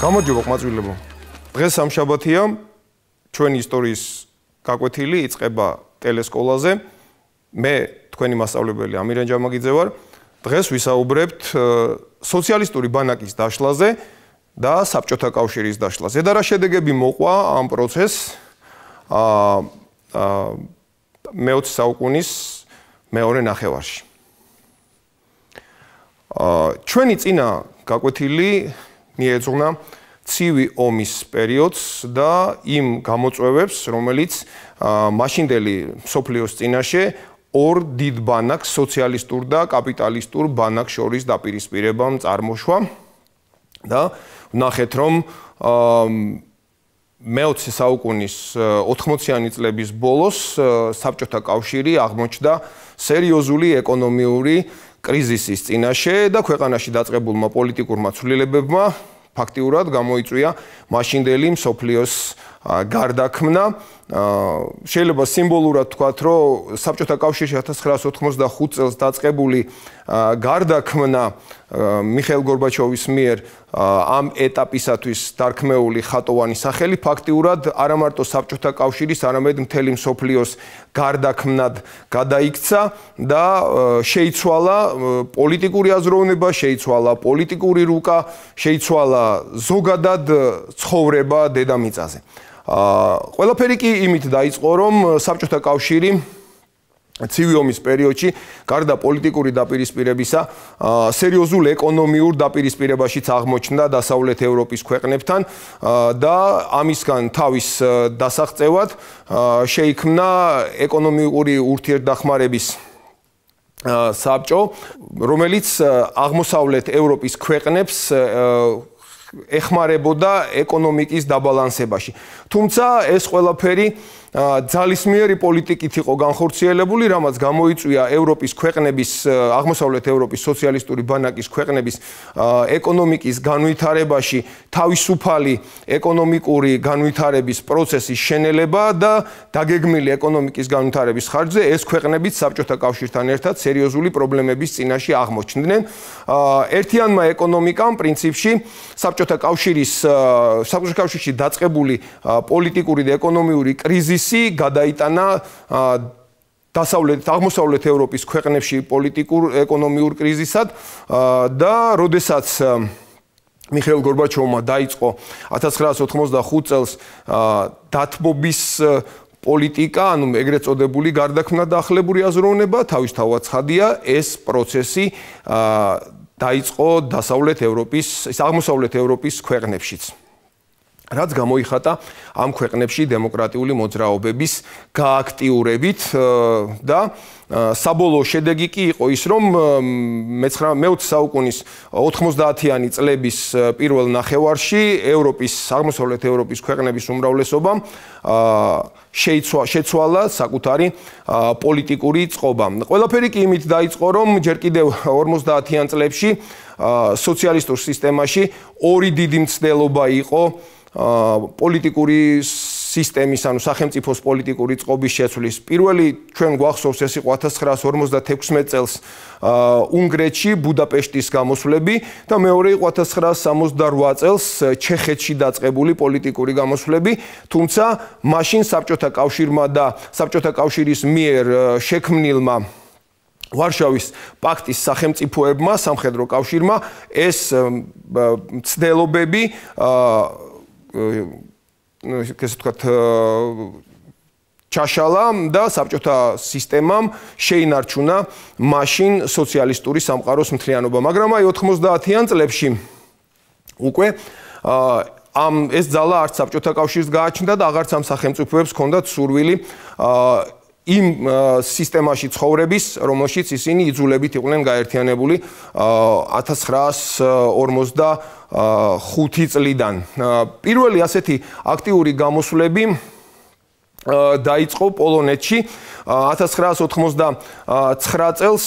გამარჯობა ყმაწვილებო. დღეს სამშაბათია, ჩვენი ისტორიის გაკვეთილი იწყება ტელესკოლაზე. მე თქვენი მასწავლებელი ამირან ჯამაგიძე ვარ. დღეს ვისაუბრებთ სოციალისტური ბანაკის დაშლაზე და საბჭოთა კავშირის დაშლაზე. და რა შედეგები მოყვა ამ პროცესს მე-20 საუკუნის მეორე ნახევარში. ჩვენი წინა გაკვეთილი მიეძღვნა ცივი ომის პერიოდს და იმ გამოწვევებს, რომელიც მაშინდელი მსოფლიოს წინაშე ორ დიდ ბანაკს, სოციალისტურ და კაპიტალისტურ ბანაკს შორის დაპირისპირებამ წარმოშვა და ვნახეთ, რომ მე-20 საუკუნის 80-იანი წლების ბოლოს საბჭოთა კავშირი აღმოჩნდა სერიოზული ეკონომიური კრიზისის წინაშე და ქვეყანაში დაწყებულმა პოლიტიკურმა ცვლილებებმა ფაქტიურად გამოიწვია მაშინდელი მსოფლიოს გარდაქმნა. შეიძლება სიმბოლურად ვთქვათ, რომ საბჭოთა კავშირში 1985 წელს დაწყებული გარდაქმნა მიხეილ გორბაჩოვის მიერ ამ ეტაპისათვის დარქმეული ხატოვანი სახელი ფაქტიურად არა მარტო საბჭოთა კავშირის, არამედ მთელი მსოფლიოს გარდაქმნად გადაიქცა და შეიცვალა პოლიტიკური აზროვნება, შეიცვალა პოლიტიკური რუკა, შეიცვალა ზოგადად ცხოვრება დედამიწაზე. ყველაფერი კი იმით დაიწყო, რომ საბჭოთა კავშირი ცივი ომის პერიოდში გარდა პოლიტიკური დაპირისპირებისა სერიოზულ ეკონომიურ დაპირისპირებაშიც აღმოჩნდა დასავლეთ ევროპის ქვეყნებთან და ამისგან თავის დასაღწევად შეიქმნა ეკონომიკური ურთიერთდახმარების საბჭო, რომელიც აღმოსავლეთ ევროპის ქვეყნებს ეხმარებოდა ეკონომიკის დაბალანსებაში. თუმცა ეს ყველაფერი ძალისმიერი პოლიტიკით იყო განხორციელებული, რამაც გამოიწვია ევროპის ქვეყნების, აღმოსავლეთ ევროპის სოციალისტური ბანაკის ქვეყნების ეკონომიკის განვითარებაში თავისუფალი ეკონომიკური განვითარების პროცესის შენელება და დაგეგმილი ეკონომიკის განვითარების ხარჯზე ეს ქვეყნებიც საბჭოთა კავშირთან ერთად სერიოზული პრობლემების წინაშე აღმოჩნდნენ. ერთიანმა ეკონომიკამ პრინციპში საბჭოთა კავშირში დაწყებული პოლიტიკური და ეკონომიური კრიზისი გადაიტანა აღმოსავლეთ ევროპის ქვეყნებში პოლიტიკურ ეკონომიურ კრიზისად და როდესაც მიხეილ გორბაჩოვმა დაიწყო 1985 წელს დათბობის პოლიტიკა, ანუ ეგრეთ წოდებული გარდაქმნა და ახლებური აზროვნება, თავისთავად ცხადია, ეს პროცესი დაიწყო აღმოსავლეთ ევროპის ქვეყნებშიც. რაც გამოიხატა ამ ქვეყნებში დემოკრატიული მოძრაობების გააქტიურებით და საბოლოო შედეგი კი იყო ის, რომ მე-20 საუკუნის 90-იანი წლების პირველ ნახევარში აღმოსავლეთ ევროპის ქვეყნების უმრავლესობამ შეცვალა საკუთარი პოლიტიკური წყობა. ყველაფერი კი იმით დაიწყო, რომ ჯერ კიდევ 50-იან წლებში სოციალისტურ სისტემაში ორი დიდი მცდელობა იყო პოლიტიკური სისტემის, ანუ სახელმწიფოს პოლიტიკური წყობის შეცვლის. პირველი ჩვენ გვახსოვს, ეს იყო 1956 წელს უნგრეთში ბუდაპეშტის გამოსვლები და მეორე იყო 1968 წელს ჩეხეთში დაწყებული პოლიტიკური გამოსვლები, თუმცა მაშინ საბჭოთა კავშირმა და საბჭოთა კავშირის მიერ შექმნილმა ვარშავის პაქტის სახელმწიფოებმა, სამხედრო კავშირმა ეს მცდელობები ესე ვთქვათ ჩაშალა და საბჭოთა სისტემამ შეინარჩუნა მაშინ სოციალისტური სამყაროს მთლიანობა. მაგრამ აი 90-იან წლებში უკვე ეს ძალა არც საბჭოთა კავშირს გააჩნდა და აღარც ამ სახელმწიფოებს ჰქონდათ სურვილი იმ სისტემაში ცხოვრების, რომელშიც ისინი იძულებით იყვნენ გაერთიანებული 1945 წლიდან. პირველი ასეთი აქტიური გამოსვლები დაიწყო პოლონეთში 1989 წელს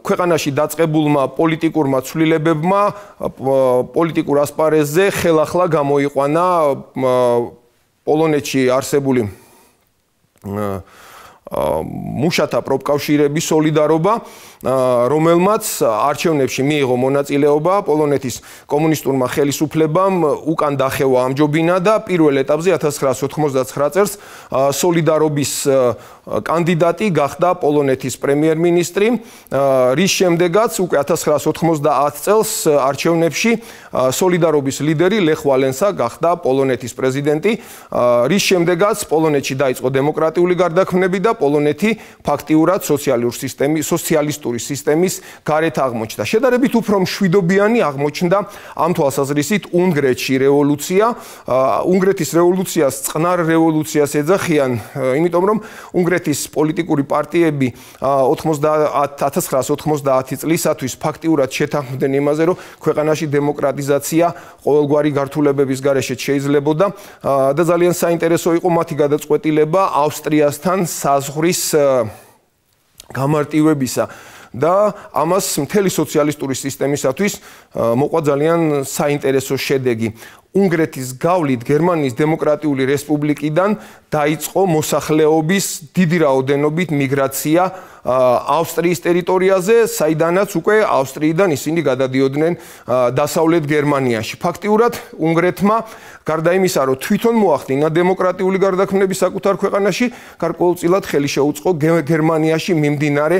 ქვეყანაში დაწყებულმა პოლიტიკურმა ცვლილებებმა პოლიტიკურ ასპარეზზე ხელახლა გამოიყვანა პოლონეთში არსებული მუშათა პროფკავშირების სოლიდარობა რომელმაც არჩევნებში მიიღო მონაწილეობა პოლონეთის კომუნისტურმა ხელისუფლებამ უკან დახევა ამჯობინა და პირველ ეტაპზე 1999 წელს სოლიდარობის კანდიდატი გახდა პოლონეთის პრემიერ-მინისტრი, რის შემდეგაც უკვე 1990 წელს არჩევნებში სოლიდარობის ლიდერი ლეხ ვალენსა გახდა პოლონეთის პრეზიდენტი, რის შემდეგაც პოლონეთში დაიწყო დემოკრატიული გარდაქმნები და პოლონეთი ფაქტიურად სოციალისტური სისტემის გარეთ აღმოჩნდა. შედარებით უფრო მშვიდობიანი აღმოჩნდა ამ თვალსაზრისით უნგრეთში რევოლუცია. უნგრეთის რევოლუციას წყნარ რევოლუციას ეძახიან, იმიტომ რომ უნგრეთის პოლიტიკური პარტიები 1990 წლისათვის ფაქტიურად შეთანხმდნენ იმაზე, რომ ქვეყანაში დემოკრატიზაცია ყოველგვარი გართულებების გარეშე შეიძლებოდა და ძალიან საინტერესო იყო მათი გადაწყვეტილება ავსტრიასთან საზღვრის გამარტივებისა და ამას მთელი სოციალისტური სისტემისათვის მოყვა ძალიან საინტერესო შედეგი. უნგრეთის გავლით გერმანიის დემოკრატიული რესპუბლიკიდან დაიწყო მოსახლეობის დიდი რაოდენობით მიგრაცია ავსტრიის ტერიტორიაზე, საიდანაც უკვე ავსტრიიდან ისინი გადადიოდნენ დასავლეთ გერმანიაში. ფაქტიურად უნგრეთმა გარდა იმისა, რომ თვითონ მოახდინა დემოკრატიული გარდაქმნები საკუთარ ქვეყანაში, გარკვეულწილად ხელი შეუწყო გერმანიაში მიმდინარე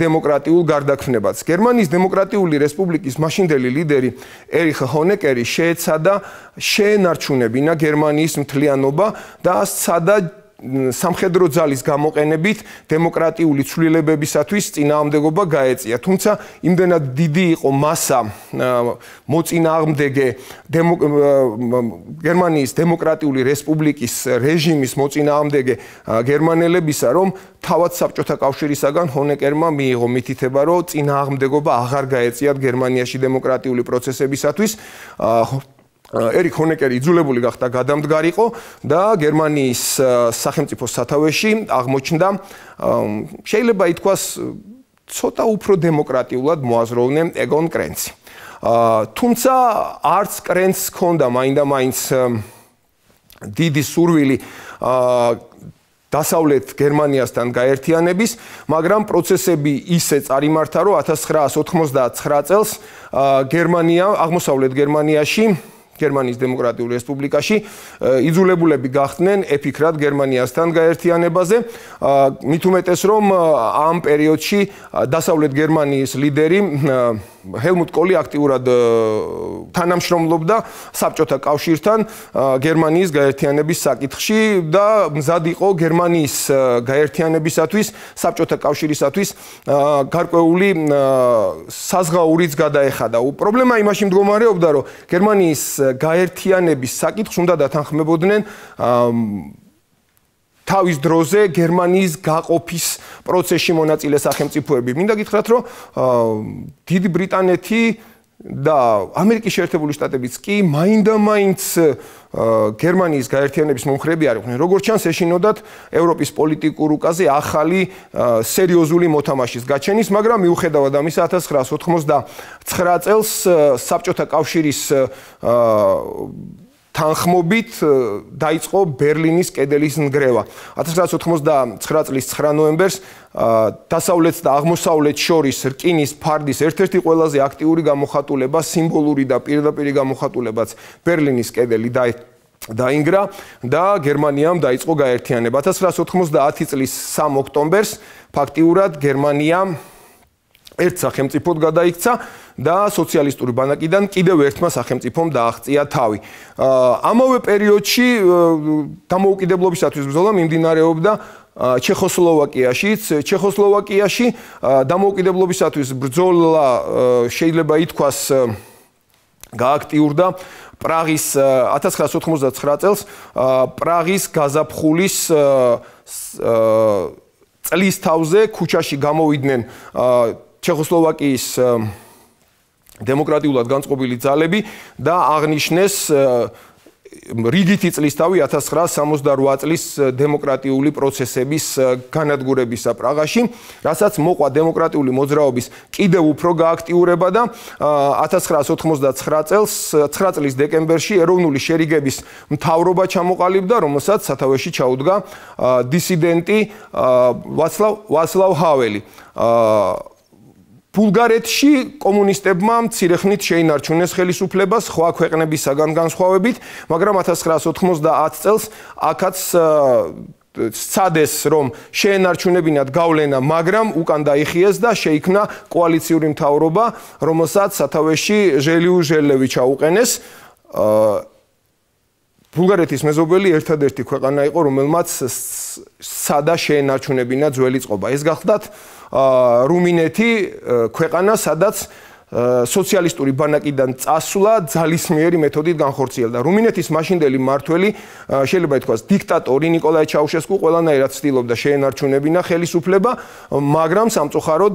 დემოკრატიულ გარდაქმნებას. გერმანიის დემოკრატიული რესპუბლიკის მაშინდელი ლიდერი ერიხ ჰონეკერი შეეცადა შეენარჩუნებინა გერმანიის მთლიანობა და სცადა სამხედრო ძალის გამოყენებით დემოკრატიული ცვლილებებისათვის წინააღმდეგობა გაეწია. თუმცა იმდენად დიდი იყო მასა მოწინააღმდეგე გერმანიის დემოკრატიული რესპუბლიკის რეჟიმის მოწინააღმდეგე გერმანელებისა, რომ თავად საბჭოთა კავშირისაგან ჰონეკერმა მიიღო მითითება, რომ წინააღმდეგობა აღარ გაეწიათ გერმანიაში დემოკრატიული პროცესებისათვის. ერიხ ჰონეკერი იძულებული გახდა გადამდგარიყო და გერმანიის სახელმწიფო სათავეში აღმოჩნდა, შეიძლება ითქვას, ცოტა უფრო დემოკრატიულად მოაზროვნე ეგონ კრენცი. თუმცა არც კრენცს ჰქონდა მაინდა-მაინც დიდი სურვილი დასავლეთ გერმანიასთან გაერთიანების, მაგრამ პროცესები ისე წარიმართა, რომ 1999 წელს აღმოსავლეთ გერმანიაში გერმანიის დემოკრატიული რესპუბლიკაში იძულებულები გახდნენ ეფიქრათ გერმანიასთან გაერთიანებაზე. მით უმეტეს, რომ ამ პერიოდში დასავლეთ გერმანიის ლიდერი ჰელმუტ კოლი აქტიურად თანამშრომლობდა საბჭოთა კავშირთან გერმანიის გაერთიანების საკითხში და მზად იყო გერმანიის გაერთიანებისათვის, საბჭოთა კავშირისათვის გარკვეული საზღაურიც გადაეხადა. პრობლემა იმაში მდგომარეობდა, რომ გერმანიის გაერთიანების საკითხს უნდა დათანხმებოდნენ თავის დროზე გერმანიის გაყოფის პროცესში მონაწილე სახელმწიფოები. მინდა გითხრათ, რომ დიდი ბრიტანეთი და ამერიკის შეერთებული შტატებიც კი მაინდა-მაინც გერმანიის გაერთიანების მომხრეები არ იყვნენ. როგორც ჩანს, ეშინოდათ ევროპის პოლიტიკურ უკაზე ახალი სერიოზული მოთამაშის გაჩენის, მაგრამ მიუხედავად ამისა 1999 წელს საბჭოთა კავშირის თანხმობით დაიწყო ბერლინის კედელის ნგრევა. 1999 წლის 9 ნოემბერს დასავლეთ და აღმოსავლეთ შორის რკინის ფარდის ერთ-ერთი ყველაზე აქტიური გამოხატულება, სიმბოლური და პირდაპირი გამოხატულებაც ბერლინის კედელი დაინგრა და გერმანიამ დაიწყო გაერთიანება. 1990 წლის 3 ოქტომბერს ფაქტიურად გერმანია ერთ სახელმწიფოდ გადაიქცა და სოციალისტური ბანაკიდან კიდევ ერთმა სახელმწიფომ დააღწია თავი. ამავე პერიოდში დამოუკიდებლობისათვის ბრძოლა მიმდინარეობდა ჩეხოსლოვაკიაშიც. ჩეხოსლოვაკიაში დამოუკიდებლობისათვის ბრძოლა შეიძლება ითქვას გააქტიურდა პრაღის 1999 წელს პრაღის გაზაფხულის წლის თავზე ქუჩაში გამოვიდნენ ჩეხოსლოვაკიის დემოკრატიულად განწყობილი ძალები და აღნიშნეს რიგითი წლისთავი 1968 წლის დემოკრატიული პროცესების განადგურებისა პრაღაში, რასაც მოყვა დემოკრატიული მოძრაობის კიდევ უფრო გააქტიურება და 1999 წელს 9 წლის დეკემბერში ეროვნული შერიგების მთავრობა ჩამოყალიბდა, რომელსაც სათავეში ჩაუდგა დისიდენტი ვაცლავ ჰაველი. ბულგარეთში კომუნისტებმა მცირეხნით შეინარჩუნეს ხელისუფლება სხვა ქვეყნებისაგან განსხვავებით, მაგრამ 1990 წელს აქაც სცადეს რომ შეენარჩუნებინათ გავლენა, მაგრამ უკან დაიხიეს და შეიქმნა კოალიციური მთავრობა, რომელსაც სათავეში ჟელიუ-ჟელევი ჩაუყენეს. ბულგარეთის მეზობელი ერთადერთი ქვეყანა იყო, რომელმაც სცადა შეენარჩუნებინა ძველი წყობა. ეს გახლდათ რუმინეთი, ქვეყანა, სადაც სოციალისტური ბანაკიდან წასვლა ძალისმიერი მეთოდით განხორციელდა. რუმინეთის მაშინდელი მმართველი, შეიძლება ითქვას, დიქტატორი ნიკოლაი ჩაუშესკუ ყველანაირად ცდილობდა შეენარჩუნებინა ხელისუფლება, მაგრამ სამწუხაროდ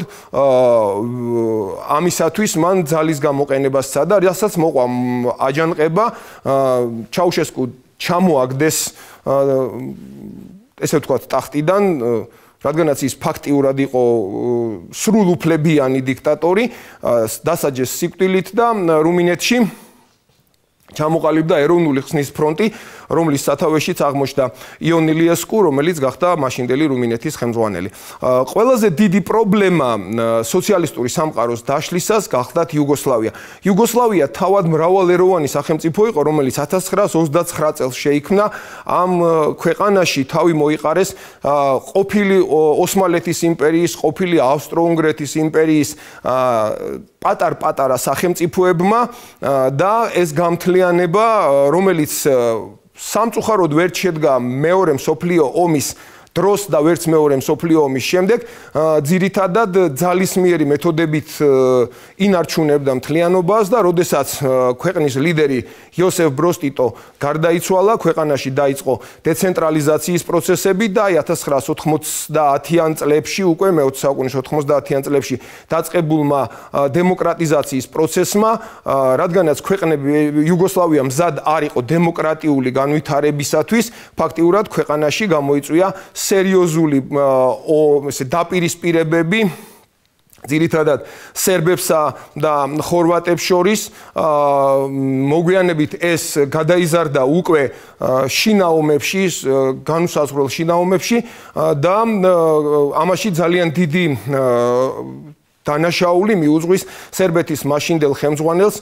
ამისათვის მან ძალის გამოყენება სცადა, რასაც მოყვა აჯანყება, ჩაუშესკუ ჩამოაგდეს ესე ვთქვათ ტახტიდან, რადგანაც ის ფაქტიურად იყო სრულუფლებიანი დიქტატორი, დასაჯეს სიკვდილით და რუმინეთში ჩამოყალიბდა ეროვნული ხსნის ფრონტი, რომლის სათავეშიც აღმოჩნდა იონ ილიესკუ, რომელიც გახდა მაშინდელი რუმინეთის ხელმძღვანელი. ყველაზე დიდი პრობლემა სოციალისტური სამყაროს დაშლისას გახდათ იუგოსლავია. იუგოსლავია თავად მრავალეროვანი სახელმწიფო იყო, რომელიც 1929 წელს შეიქმნა. ამ ქვეყანაში თავი მოიყარეს ყოფილი ოსმალეთის იმპერიის, ყოფილი ავსტრო-უნგრეთის იმპერიის პატარ-პატარა სახელმწიფოებმა და ეს გამთლიანება, რომელიც სამწუხაროდ ვერ შედგა მეორე მსოფლიო ომის დროს და ვერც მეორე მსოფლიო ომის შემდეგ, ძირითადად ძალისმიერი მეთოდებით ინარჩუნებდა მთლიანობას და როდესაც ქვეყნის ლიდერი იოსეფ ბროს ტიტო გარდაიცვალა, ქვეყანაში დაიწყო დეცენტრალიზაციის პროცესები და 1990-იან წლებში, უკვე მე-20 საუკუნის 90-იან წლებში დაწყებულმა დემოკრატიზაციის პროცესმა, რადგანაც ქვეყნები იუგოსლავია მზად არ იყო დემოკრატიული განვითარებისათვის, ფაქტიურად ქვეყანაში გამოიწვია სერიოზული დაპირისპირებები ძირითადად სერბებსა და ხორვატებს შორის. მოგვიანებით ეს გადაიზარდა უკვე შინაომებში, განუსაზღვრელ შინაომებში და ამაში ძალიან დიდი დანაშაული მიუძღვის სერბეთის მაშინდელ ხელმძღვანელს,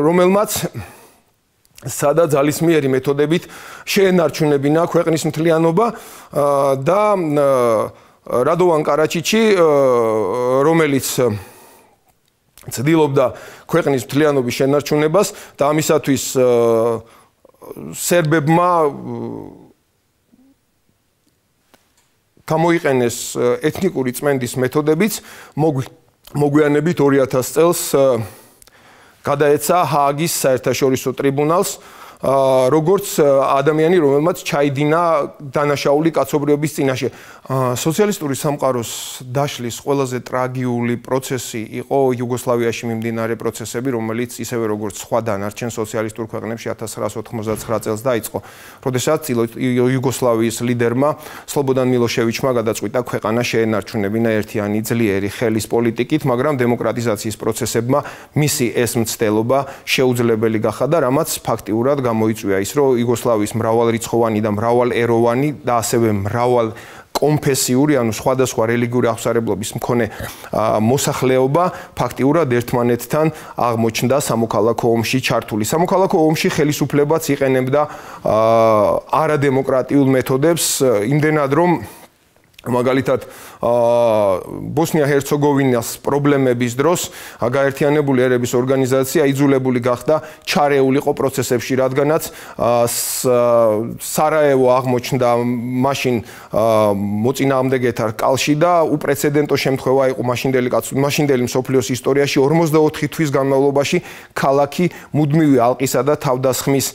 რომელმაც სადა ძალისმიერი მეთოდებით შეენარჩუნებინა ქვეყნის მთლიანობა და რადოვან კარაჩიჩი, რომელიც ცდილობდა ქვეყნის მთლიანობის შენარჩუნებას და ამისათვის სერბებმა გამოიყენეს ეთნიკური წმენდის მეთოდებიც, მოგვიანებით 2000 წელს გადაეცა ჰააგის საერთაშორისო ტრიბუნალს, როგორც ადამიანი, რომელმაც ჩაიდინა დანაშაული კაცობრიობის წინაშე. სოციალისტური სამყაროს დაშლის ყველაზე ტრაგიული პროცესი იყო იუგოსლავიაში მიმდინარე პროცესები, რომელიც ისევე როგორც სხვა დანარჩენ სოციალისტურ ქვეყნებში 1999 წელს დაიწყო, როდესაც იუგოსლავიის ლიდერმა სლობოდან მილოშევიჩმა გადაწყვიტა ქვეყანა შეენარჩუნებინა ერთიანი ძლიერი ხელის პოლიტიკით, მაგრამ დემოკრატიზაციის პროცესებმა მისი ეს მცდელობა შეუძლებელი გახადა, რამაც ფაქტიურად გამოიწვია ის, რომ იუგოსლავიის მრავალრიცხოვანი და მრავალეროვანი და ასევე მრავალ კონფესიური, ანუ სხვადასხვა რელიგიური აღსარებლობის მქონე მოსახლეობა ფაქტიურად ერთმანეთთან აღმოჩნდა სამოქალაქო ომში ჩართული. სამოქალაქო ომში ხელისუფლებაც იყენებდა არადემოკრატიულ მეთოდებს, იმდენად რომ მაგალითად ბოსნია-ჰერცეგოვინას პრობლემების დროს გაერთიანებული ერების ორგანიზაცია იძულებული გახდა ჩარეულიყო პროცესებში, რადგანაც სარაევო აღმოჩნდა მაშინ მოწინააღმდეგეთა რკალში და უპრეცედენტო შემთხვევა იყო მაშინდელი მსოფლიოს ისტორიაში 44 თვის განმავლობაში ქალაქი მუდმივი ალყისა და თავდასხმის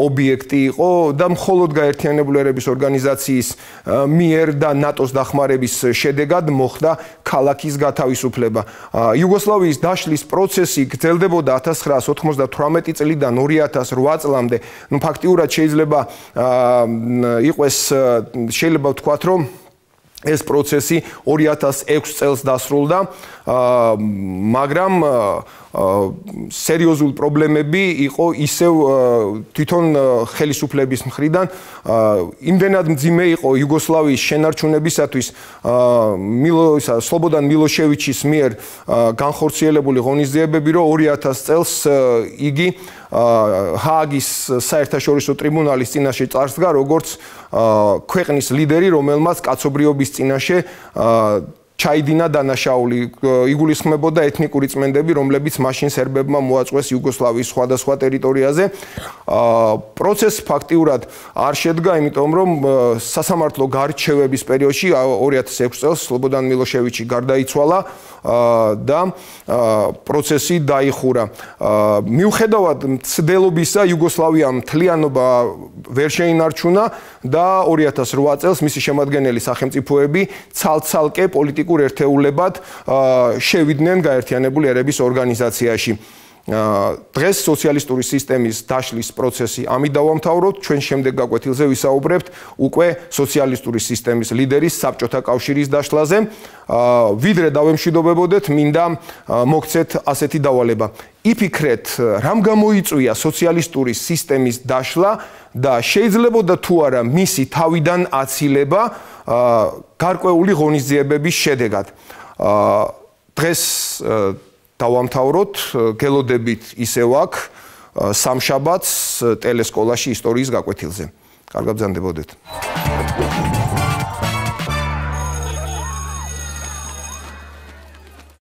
ობიექტი იყო და მხოლოდ გაერთიანებული ერების ორგანიზაციის მიერ და ნატოს დახმარების შედეგად მოხდა ქალაქის გათავისუფლება. იუგოსლავიის დაშლის პროცესი გრძელდებოდა 1998 წლიდან 2008 წლამდე. ფაქტიურად შეიძლება ვთქვათ, რომ ეს პროცესი 2006 წელს დასრულდა, მაგრამ სერიოზული პრობლემები იყო ისევ თვითონ ხელისუფლების მხრიდან. იმდენად მძიმე იყო იუგოსლავიის შენარჩუნებისათვის სლობოდან მილოშევიჩის მიერ განხორციელებული ღონისძიებები, რომ 2000 წელს იგი ჰააგის საერთაშორისო ტრიბუნალის წინაშე წარსდგა, როგორც ქვეყნის ლიდერი, რომელმაც კაცობრიობის წინაშე ჩაიდინა დანაშაული, იგულისხმებოდა ეთნიკური წმენდები, რომლებიც მაშინ სერბებმა მოაწყვეს იუგოსლავიის სხვადასხვა ტერიტორიაზე. პროცესი ფაქტიურად არ შედგა, იმიტომ რომ სასამართლო გარჩევების პერიოდში 2006 წელს სლობოდან მილოშევიჩი გარდაიცვალა და პროცესი დაიხურა. მიუხედავად მცდელობისა, იუგოსლავიამ მთლიანობა ვერ შეინარჩუნა და 2008 წელს მისი შემადგენელი სახელმწიფოები ცალ-ცალკე პოლიტიკურ ერთეულებად შევიდნენ გაერთიანებული ერების ორგანიზაციაში. დღეს სოციალისტური სისტემის დაშლის პროცესი ამით დავამთავროთ, ჩვენ შემდეგ გაკვეთილზე ვისაუბრებთ უკვე სოციალისტური სისტემის ლიდერის საბჭოთა კავშირის დაშლაზე. ვიდრე დავემშვიდობებოდეთ, მინდა მოგცეთ ასეთი დავალება. იფიქრეთ, რამ გამოიწვია სოციალისტური სისტემის დაშლა და შეიძლებოდა თუ არა მისი თავიდან აცილება გარკვეული ღონისძიებების შედეგად. დღეს დავამთავროთ, გელოდებით ისევ აქ სამშაბათს ტელესკოლაში ისტორიის გაკვეთილზე. კარგად ბრძანდებოდეთ.